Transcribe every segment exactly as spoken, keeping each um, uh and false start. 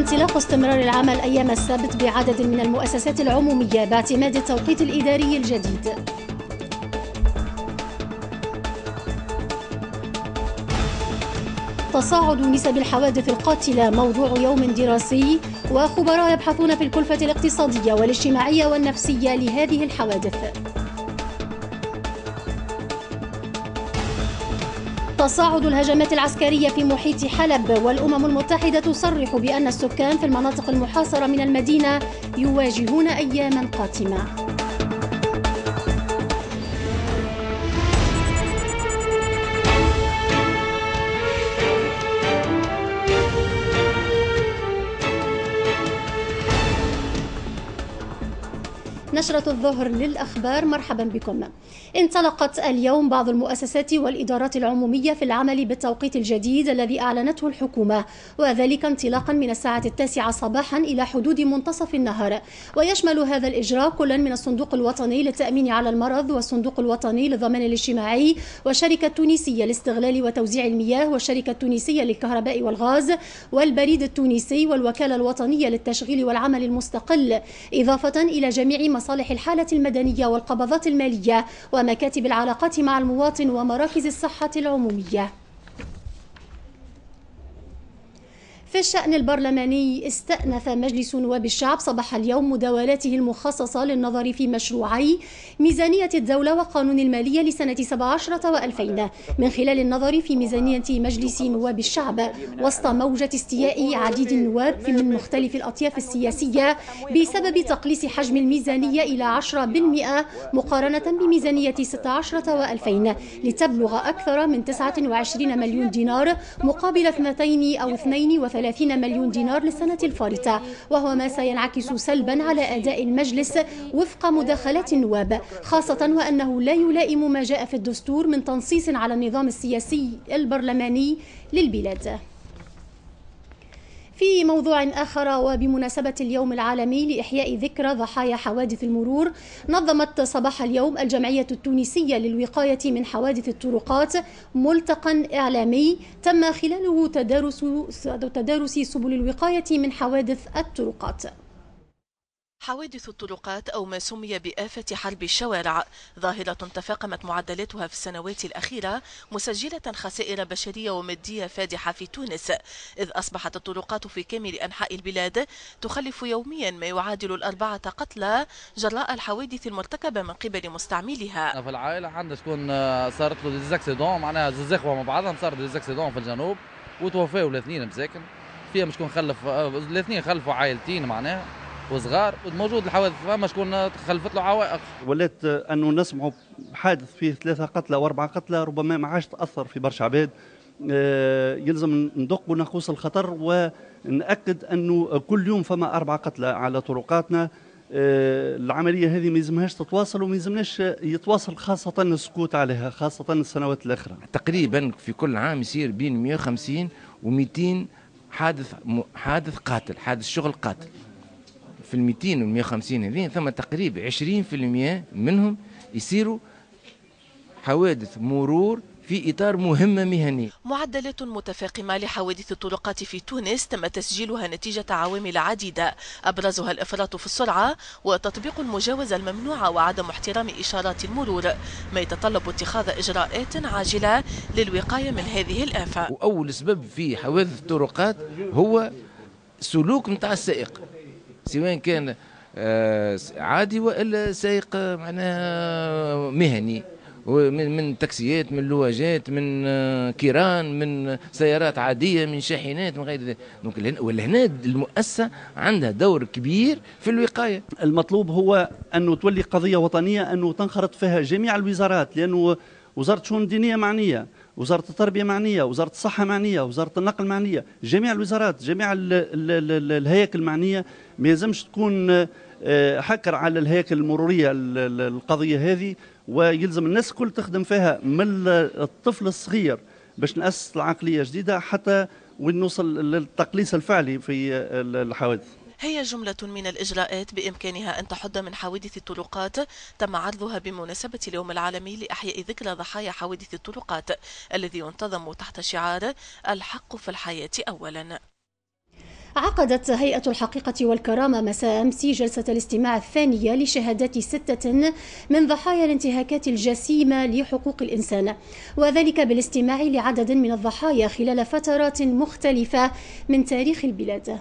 انطلاق استمرار العمل أيام السبت بعدد من المؤسسات العمومية باعتماد التوقيت الإداري الجديد. تصاعد نسب الحوادث القاتلة موضوع يوم دراسي، وخبراء يبحثون في الكلفة الاقتصادية والاجتماعية والنفسية لهذه الحوادث. تصاعد الهجمات العسكرية في محيط حلب، والأمم المتحدة تصرح بأن السكان في المناطق المحاصرة من المدينة يواجهون أياما قاتمة. نشرة الظهر للأخبار، مرحبا بكم. انطلقت اليوم بعض المؤسسات والإدارات العمومية في العمل بالتوقيت الجديد الذي أعلنته الحكومة، وذلك انطلاقا من الساعة التاسعة صباحا إلى حدود منتصف النهار. ويشمل هذا الإجراء كلا من الصندوق الوطني للتأمين على المرض والصندوق الوطني للضمان الاجتماعي والشركة التونسية لاستغلال وتوزيع المياه والشركة التونسية للكهرباء والغاز والبريد التونسي والوكالة الوطنية للتشغيل والعمل المستقل، إضافة إلى جميع مصالح الحالة المدنية والقبضات المالية ومكاتب العلاقات مع المواطن ومراكز الصحة العمومية. في الشأن البرلماني، استأنف مجلس نواب الشعب صباح اليوم مداولاته المخصصة للنظر في مشروعي ميزانية الدولة وقانون المالية لسنة سبعة عشر وألفين، من خلال النظر في ميزانية مجلس نواب الشعب، وسط موجة استياء عديد النواب من مختلف الأطياف السياسية بسبب تقليص حجم الميزانية إلى عشرة بالمئة مقارنة بميزانية ستة عشر وألفين لتبلغ أكثر من تسعة وعشرين مليون دينار مقابل اثنتين أو اثنين وثلاثين مليون دينار للسنة الفارطة، وهو ما سينعكس سلبا على أداء المجلس وفق مداخلات النواب، خاصة وأنه لا يلائم ما جاء في الدستور من تنصيص على النظام السياسي البرلماني للبلاد. في موضوع آخر، وبمناسبة اليوم العالمي لإحياء ذكرى ضحايا حوادث المرور، نظمت صباح اليوم الجمعية التونسية للوقاية من حوادث الطرقات ملتقى إعلامي تم خلاله تدارس تدارس سبل الوقاية من حوادث الطرقات. حوادث الطرقات أو ما سمي بآفة حرب الشوارع ظاهرة تفاقمت معدلاتها في السنوات الأخيرة، مسجلة خسائر بشرية ومادية فادحة في تونس، إذ أصبحت الطرقات في كامل أنحاء البلاد تخلف يوميا ما يعادل الأربعة قتلى جراء الحوادث المرتكبة من قبل مستعملها. في العائلة عندنا شكون صارت له des accidents، معناها زوز اخوة مع بعضهم صارت des accidents في الجنوب وتوفاوا الاثنين مساكن، فيهم شكون خلف الاثنين خلفوا عائلتين معناها وصغار، موجود الحوادث فما شكون خلفت له عوائق. ولات انه نسمعوا بحادث فيه ثلاثة قتلى واربعة قتلى ربما ما عادش تاثر في برشا عباد. يلزم ندق ونقوص الخطر ونأكد انه كل يوم فما اربعة قتلى على طرقاتنا. العملية هذه ما يلزمهاش تتواصل وما يلزمناش يتواصل، خاصة السكوت عليها، خاصة السنوات الاخرى. تقريبا في كل عام يصير بين مئة وخمسين ومئتين حادث حادث قاتل، حادث شغل قاتل. في ال مئتين وال مئة وخمسين هذين ثم تقريبا عشرين بالمئة منهم يصيروا حوادث مرور في إطار مهمة مهنية. معدلات متفاقمة لحوادث الطرقات في تونس تم تسجيلها نتيجة عوامل عديدة، أبرزها الإفراط في السرعة وتطبيق المجاوزة الممنوعة وعدم احترام إشارات المرور، ما يتطلب اتخاذ إجراءات عاجلة للوقاية من هذه الآفة. وأول سبب في حوادث الطرقات هو سلوك نتاع السائق، سواء كان عادي والا سائق معناها مهني، من من تاكسيات، من لواجات، من كيران، من سيارات عادية، من شاحنات، من غير ذلك. donc ولهنا المؤسسة عندها دور كبير في الوقاية. المطلوب هو انه تولي قضية وطنية، انه تنخرط فيها جميع الوزارات، لانه وزارة الشؤون الدينية معنية، وزارة التربية معنية، وزارة الصحة معنية، وزارة النقل معنية، جميع الوزارات، جميع ال ال ال الهياكل المعنية. ما يلزمش تكون حكر على الهياكل المرورية القضية هذه، ويلزم الناس الكل تخدم فيها من الطفل الصغير باش نأسس العقلية جديدة حتى وين نوصل للتقليص الفعلي في الحوادث. هي جملة من الإجراءات بإمكانها أن تحد من حوادث الطرقات تم عرضها بمناسبة اليوم العالمي لإحياء ذكرى ضحايا حوادث الطرقات الذي ينتظم تحت شعار الحق في الحياة أولا. عقدت هيئة الحقيقة والكرامة مساء أمس جلسة الاستماع الثانية لشهادات ستة من ضحايا الانتهاكات الجسيمة لحقوق الإنسان، وذلك بالاستماع لعدد من الضحايا خلال فترات مختلفة من تاريخ البلاد.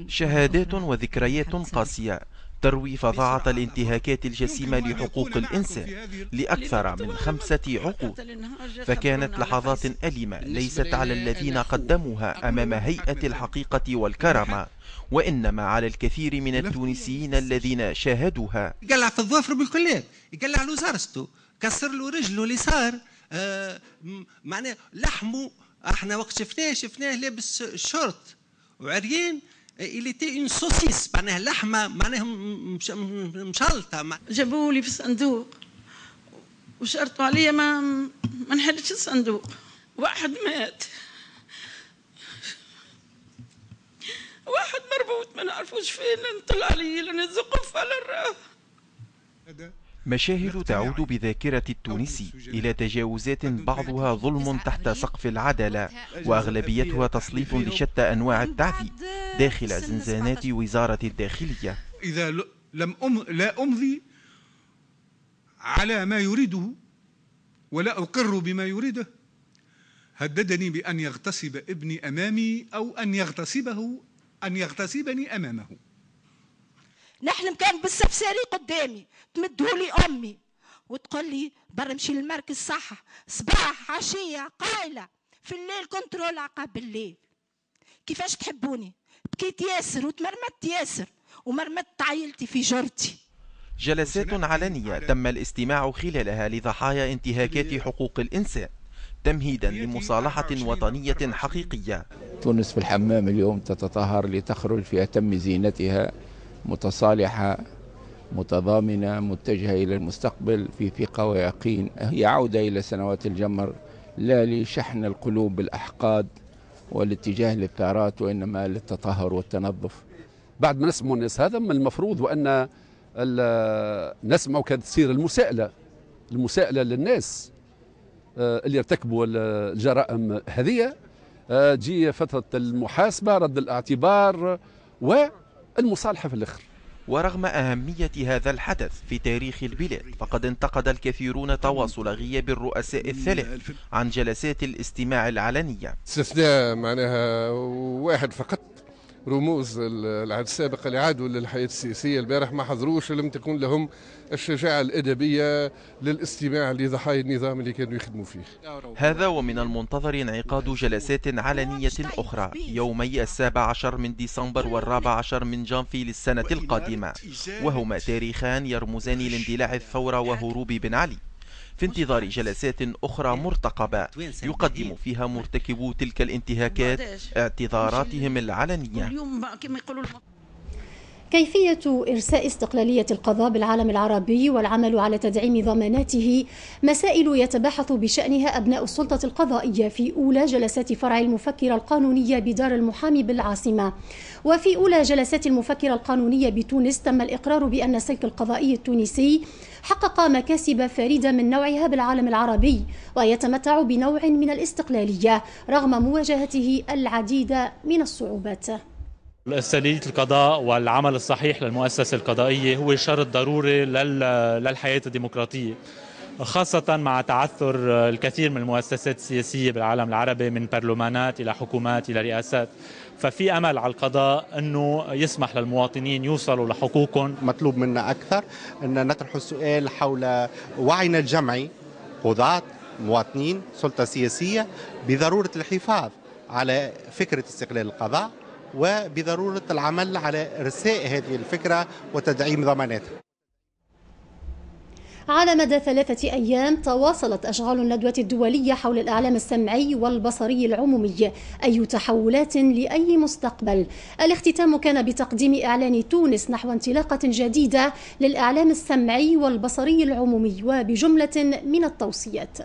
شهادات وذكريات قاسية تروي فظاعة الانتهاكات الجسيمة لحقوق الإنسان لأكثر من خمسة عقود، فكانت لحظات أليمة ليست على الذين قدموها أمام هيئة الحقيقة والكرامة، وإنما على الكثير من التونسيين الذين شاهدوها. يقلع في الظوافر بالكليات، يقلع له زرسته، كسر له رجله اليسار، آه معناه لحمه. احنا وقت شفناه شفناه لابس شورت وعريان، il était une saucisse، معناها لحمه، معناها مشلطه. جابوا لي في الصندوق وشرطوا عليا ما ما نحلش الصندوق. واحد مات، واحد مربوط ما نعرفوش فين، نطلع عليه نزقف على الراه. مشاهد تعود بذاكرة التونسي إلى تجاوزات بعضها ظلم تحت سقف العدالة، وأغلبيتها تسليط لشتى أنواع التعذيب داخل زنزانات وزارة الداخلية. إذا لم أم لا أمضي على ما يريده ولا أقر بما يريده، هددني بأن يغتصب ابني أمامي أو أن يغتصبه أن يغتصبني أمامه. نحلم كان بالسفساري قدامي، تمدهولي امي وتقول لي برا نمشي للمركز صح، صباح عشية قايله، في الليل contrôle عقاب الليل. كيفاش تحبوني؟ بكيت ياسر وتمرمدت ياسر ومرمدت عائلتي في جرتي. جلسات علنية تم الاستماع خلالها لضحايا انتهاكات حقوق الانسان تمهيدا لمصالحه وطنية حقيقية. تونس في الحمام اليوم تتطهر لتخرج في اتم زينتها، متصالحة متضامنة متجهة إلى المستقبل في ثقة ويقين. هي عودة إلى سنوات الجمر، لا لشحن القلوب بالأحقاد والاتجاه للثارات، وإنما للتطهر والتنظف. بعد ما نسمعوا الناس هذا من المفروض وأن نسمعوا كانت تصير المساءلة، المساءلة للناس اللي ارتكبوا الجرائم هذه، تجي فترة المحاسبة، رد الاعتبار و المصالحة في الآخر. ورغم أهمية هذا الحدث في تاريخ البلاد، فقد انتقد الكثيرون تواصل غياب الرؤساء الثلاث عن جلسات الاستماع العلنية. استثناء معناها واحد فقط، رموز العهد السابق اللي عادوا للحياة السياسية البارح ما حضروش، ولم تكن لهم الشجاعة الأدبية للاستماع لضحايا النظام اللي كانوا يخدموا فيه. هذا ومن المنتظر انعقاد جلسات علنية أخرى يومي السابع عشر من ديسمبر والرابع عشر من جانفي للسنة القادمة، وهما تاريخان يرمزان لاندلاع الثورة وهروب بن علي، في انتظار جلسات أخرى مرتقبة يقدم فيها مرتكبو تلك الانتهاكات اعتذاراتهم العلنية. كيفية إرساء استقلالية القضاء بالعالم العربي والعمل على تدعيم ضماناته مسائل يتباحث بشأنها أبناء السلطة القضائية في أولى جلسات فرع المفكرة القانونية بدار المحامي بالعاصمة. وفي أولى جلسات المفكرة القانونية بتونس تم الإقرار بأن السلك القضائي التونسي حقق مكاسب فريدة من نوعها بالعالم العربي ويتمتع بنوع من الاستقلالية رغم مواجهته العديد من الصعوبات. استقلالية القضاء والعمل الصحيح للمؤسسة القضائية هو شرط ضروري للحياة الديمقراطية، خاصة مع تعثر الكثير من المؤسسات السياسية بالعالم العربي من برلمانات إلى حكومات إلى رئاسات. ففي أمل على القضاء أنه يسمح للمواطنين يوصلوا لحقوقهم. مطلوب منا أكثر أن نطرح السؤال حول وعينا الجمعي، قضاة، مواطنين، سلطة سياسية، بضرورة الحفاظ على فكرة استقلال القضاء وبضرورة العمل على إرساء هذه الفكرة وتدعيم ضماناتها. على مدى ثلاثة أيام تواصلت أشغال الندوة الدولية حول الإعلام السمعي والبصري العمومي، أي تحولات لأي مستقبل. الاختتام كان بتقديم إعلان تونس نحو انطلاقة جديدة للإعلام السمعي والبصري العمومي وبجملة من التوصيات.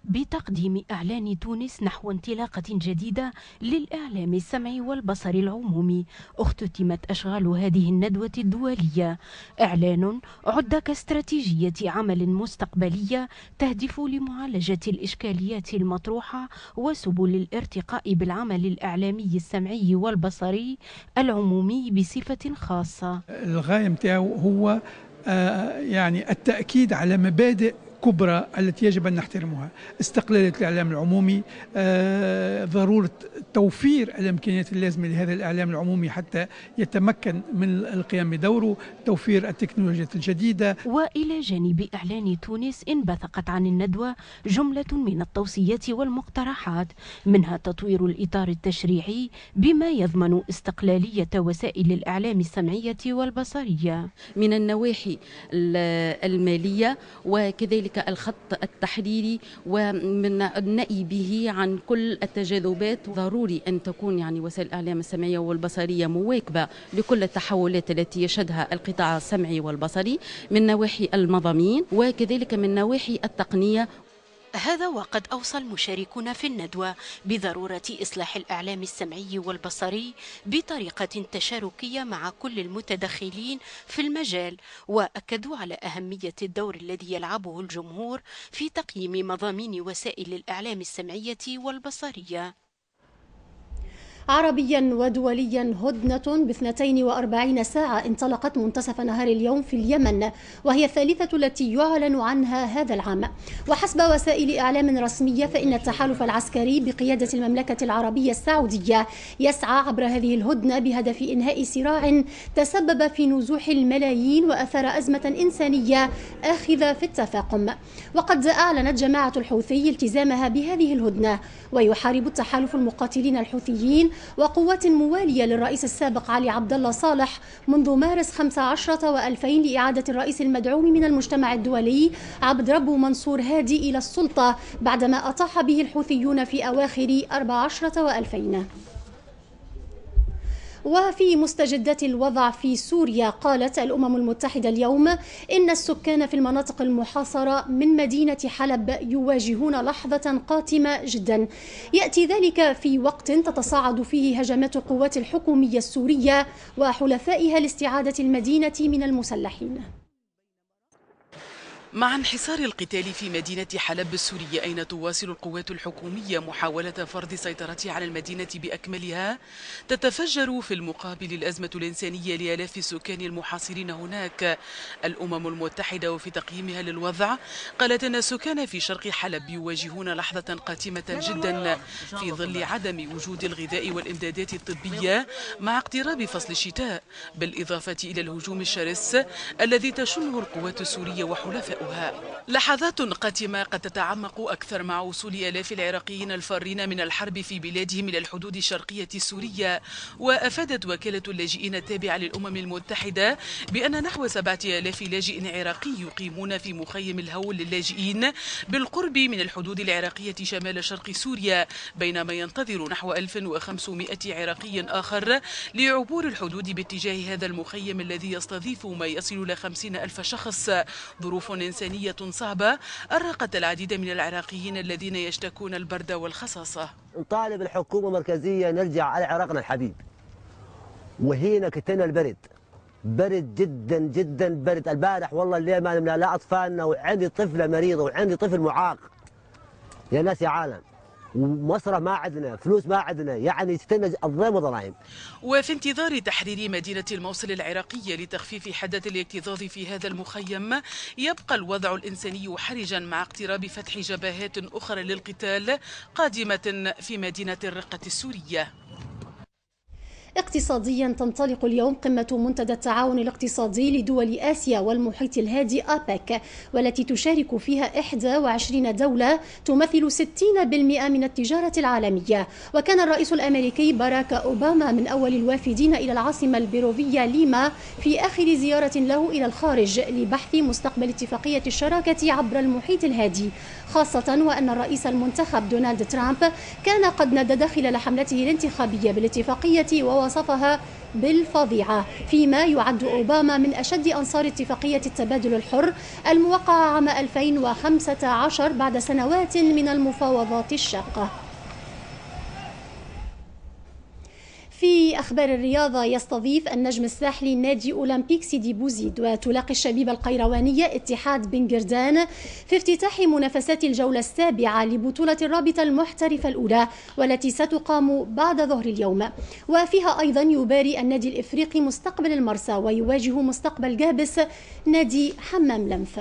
بتقديم إعلان تونس نحو انطلاقة جديدة للإعلام السمعي والبصري العمومي اختتمت أشغال هذه الندوة الدولية. إعلان عد كاستراتيجية عمل مستقبلية تهدف لمعالجة الإشكاليات المطروحة وسبل الارتقاء بالعمل الإعلامي السمعي والبصري العمومي بصفة خاصة. الغاية متاعه هو يعني التأكيد على مبادئ كبرى التي يجب أن نحترمها: استقلالية الإعلام العمومي، ضرورة توفير الإمكانيات اللازمة لهذا الإعلام العمومي حتى يتمكن من القيام بدوره، توفير التكنولوجيات الجديدة. وإلى جانب إعلان تونس انبثقت عن الندوة جملة من التوصيات والمقترحات، منها تطوير الإطار التشريعي بما يضمن استقلالية وسائل الإعلام السمعية والبصرية من النواحي المالية وكذلك الخط التحريري ومن النأي به عن كل التجاذبات. ضروري أن تكون يعني وسائل الإعلام السمعية والبصرية مواكبة لكل التحولات التي يشهدها القطاع السمعي والبصري من نواحي المضامين وكذلك من نواحي التقنية. هذا وقد أوصى المشاركون في الندوة بضرورة إصلاح الإعلام السمعي والبصري بطريقة تشاركية مع كل المتدخلين في المجال، وأكدوا على أهمية الدور الذي يلعبه الجمهور في تقييم مضامين وسائل الإعلام السمعية والبصرية. عربيا ودوليا، هدنة باثنتين وأربعين ساعة انطلقت منتصف نهار اليوم في اليمن، وهي الثالثة التي يعلن عنها هذا العام. وحسب وسائل إعلام رسمية فإن التحالف العسكري بقيادة المملكة العربية السعودية يسعى عبر هذه الهدنة بهدف إنهاء صراع تسبب في نزوح الملايين وأثار أزمة إنسانية آخذة في التفاقم. وقد أعلنت جماعة الحوثي التزامها بهذه الهدنة، ويحارب التحالف المقاتلين الحوثيين وقوات موالية للرئيس السابق علي عبد الله صالح منذ مارس خمسة عشر وألفين لإعادة الرئيس المدعوم من المجتمع الدولي عبد ربه منصور هادي إلى السلطة بعدما أطاح به الحوثيون في أواخر أربعة عشر وألفين. وفي مستجدات الوضع في سوريا، قالت الأمم المتحدة اليوم إن السكان في المناطق المحاصرة من مدينة حلب يواجهون لحظة قاتمة جدا. يأتي ذلك في وقت تتصاعد فيه هجمات القوات الحكومية السورية وحلفائها لاستعادة المدينة من المسلحين. مع انحسار القتال في مدينة حلب السورية، أين تواصل القوات الحكومية محاولة فرض سيطرتها على المدينة بأكملها، تتفجر في المقابل الأزمة الإنسانية لآلاف السكان المحاصرين هناك. الأمم المتحدة وفي تقييمها للوضع قالت أن السكان في شرق حلب يواجهون لحظة قاتمة جدا في ظل عدم وجود الغذاء والإمدادات الطبية مع اقتراب فصل الشتاء، بالإضافة إلى الهجوم الشرس الذي تشنه القوات السورية وحلفائها. لحظات قاتمة قد تتعمق أكثر مع وصول آلاف العراقيين الفارين من الحرب في بلادهم إلى الحدود الشرقية السورية. وأفادت وكالة اللاجئين التابعة للأمم المتحدة بأن نحو سبعة آلاف لاجئ عراقي يقيمون في مخيم الهول للاجئين بالقرب من الحدود العراقية شمال شرق سوريا، بينما ينتظر نحو ألف وخمسمائة عراقي آخر لعبور الحدود باتجاه هذا المخيم الذي يستضيف ما يصل إلى خمسين ألف شخص. ظروف إنسانية صعبة أرقت العديد من العراقيين الذين يشتكون البرد والخصاصة. نطالب الحكومة المركزية نرجع على عراقنا الحبيب، وهنا كتنا البرد، برد جدا جدا برد. البارح والله الليل ما نمنا لا أطفالنا، وعندي طفلة مريضة وعندي طفل معاق. يا ناس يا عالم، ومصرف ما عندنا، فلوس ما عندنا، يعني تستنى الضيم وضرايم. وفي انتظار تحرير مدينة الموصل العراقية لتخفيف حدة الاكتظاظ في هذا المخيم، يبقى الوضع الإنساني حرجا مع اقتراب فتح جبهات أخرى للقتال قادمة في مدينة الرقة السورية. اقتصاديا، تنطلق اليوم قمة منتدى التعاون الاقتصادي لدول آسيا والمحيط الهادي آباك، والتي تشارك فيها إحدى وعشرين دولة تمثل ستين بالمئة من التجارة العالمية. وكان الرئيس الأمريكي باراك أوباما من أول الوافدين إلى العاصمة البيروفية ليما في آخر زيارة له إلى الخارج لبحث مستقبل اتفاقية الشراكة عبر المحيط الهادي، خاصة وأن الرئيس المنتخب دونالد ترامب كان قد ندد خلال حملته الانتخابية بالاتفاقية ووصفها بالفظيعة، فيما يعد أوباما من أشد أنصار اتفاقية التبادل الحر الموقعة عام ألفين وخمسة عشر بعد سنوات من المفاوضات الشاقة. في أخبار الرياضة، يستضيف النجم الساحلي نادي أولمبيك سيدي بوزيد وتلاقي الشبيبة القيروانية اتحاد بن قردان في افتتاح منافسات الجولة السابعة لبطولة الرابطة المحترفة الأولى والتي ستقام بعد ظهر اليوم. وفيها أيضا يباري النادي الإفريقي مستقبل المرسى ويواجه مستقبل جابس نادي حمام لنف.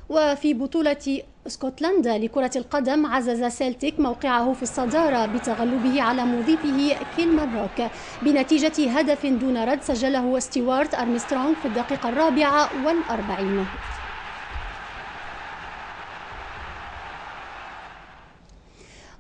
وفي بطولة اسكتلندا لكرة القدم، عزز سيلتيك موقعه في الصدارة بتغلبه على مضيفه كيلماروك بنتيجة هدف دون رد سجله ستيوارت أرمسترونغ في الدقيقة الرابعة والأربعين.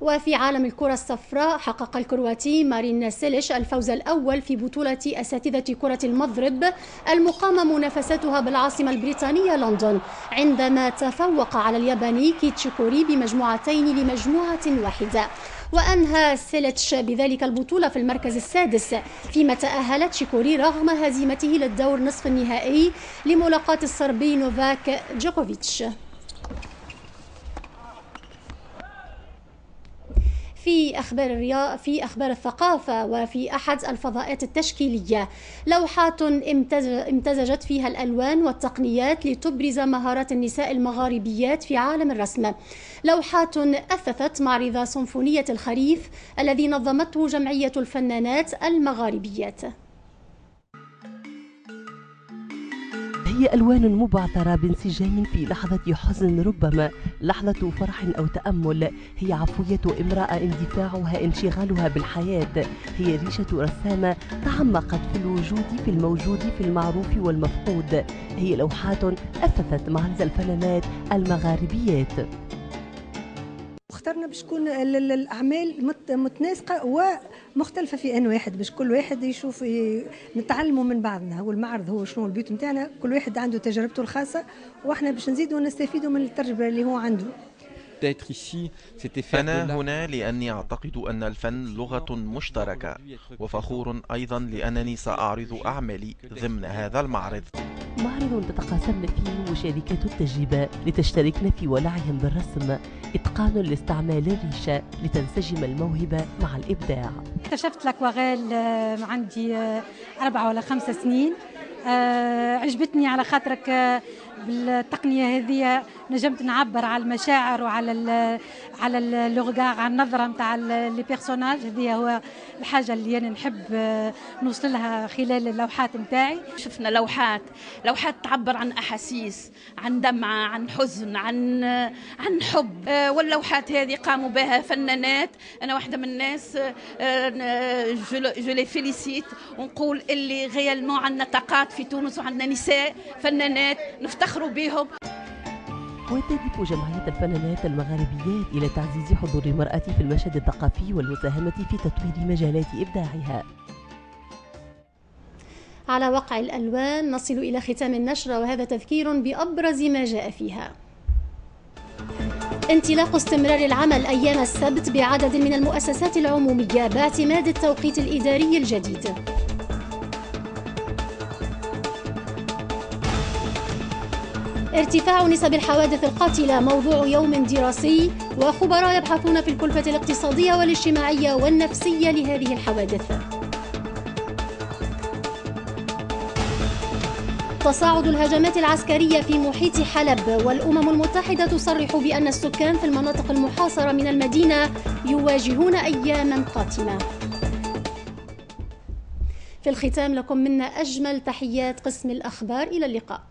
وفي عالم الكرة الصفراء، حقق الكرواتي مارين سيليش الفوز الأول في بطولة أساتذة كرة المضرب المقامة منافستها بالعاصمة البريطانية لندن، عندما تفوق على الياباني كيتشيكوري بمجموعتين لمجموعة واحدة. وأنهى سيليتش بذلك البطولة في المركز السادس، فيما تأهل تشيكوري رغم هزيمته للدور نصف النهائي لملاقاة الصربي نوفاك جوكوفيتش. في أخبار الرياض، في أخبار الثقافة، وفي أحد الفضاءات التشكيلية لوحات امتزجت فيها الألوان والتقنيات لتبرز مهارات النساء المغاربيات في عالم الرسم. لوحات أثثت معرض سيمفونية الخريف الذي نظمته جمعية الفنانات المغاربيات. هي ألوان مبعثرة بانسجام في لحظة حزن، ربما لحظة فرح أو تأمل. هي عفوية امرأة، اندفاعها، انشغالها بالحياة. هي ريشة رسامة تعمقت في الوجود، في الموجود، في المعروف والمفقود. هي لوحات أثثت معرض الفنانات المغاربيات. اخترنا باش تكون الاعمال متناسقه ومختلفة في ان واحد، باش كل واحد يشوف، نتعلموا من بعضنا. هو المعرض هو شنو ال but نتاعنا، كل واحد عنده تجربته الخاصة، واحنا باش نزيدوا نستفيدوا من التجربة اللي هو عنده. أنا هنا لأني أعتقد أن الفن لغة مشتركة، وفخور أيضا لأنني سأعرض أعمالي ضمن هذا المعرض. معرض تتقاسم فيه مشاركات التجربة لتشتركن في ولعهم بالرسم، إتقان لاستعمال الريشة لتنسجم الموهبة مع الإبداع. اكتشفت l'aquarelle عندي أربعة ولا خمسة سنين، عجبتني على خاطرك بالتقنية هذه نجمت نعبر على المشاعر وعلى ال على le regard، على النظرة نتاع les personnages. هذه هو الحاجة اللي أنا نحب نوصل لها خلال اللوحات نتاعي. شفنا لوحات لوحات تعبر عن أحاسيس، عن دمعة، عن حزن، عن عن حب، واللوحات هذه قاموا بها فنانات. أنا واحدة من الناس je les félicite ونقول اللي réellement عندنا طاقات في تونس وعندنا نساء فنانات نفتخروا بهم. وتهدف جمعية الفنانات المغاربيات إلى تعزيز حضور المرأة في المشهد الثقافي والمساهمة في تطوير مجالات إبداعها. على وقع الألوان نصل إلى ختام النشرة، وهذا تذكير بأبرز ما جاء فيها. انطلاق استمرار العمل أيام السبت بعدد من المؤسسات العمومية باعتماد التوقيت الإداري الجديد. ارتفاع نسب الحوادث القاتلة موضوع يوم دراسي، وخبراء يبحثون في الكلفة الاقتصادية والاجتماعية والنفسية لهذه الحوادث. تصاعد الهجمات العسكرية في محيط حلب، والأمم المتحدة تصرح بأن السكان في المناطق المحاصرة من المدينة يواجهون أياما قاتمة. في الختام لكم منا أجمل تحيات قسم الأخبار، إلى اللقاء.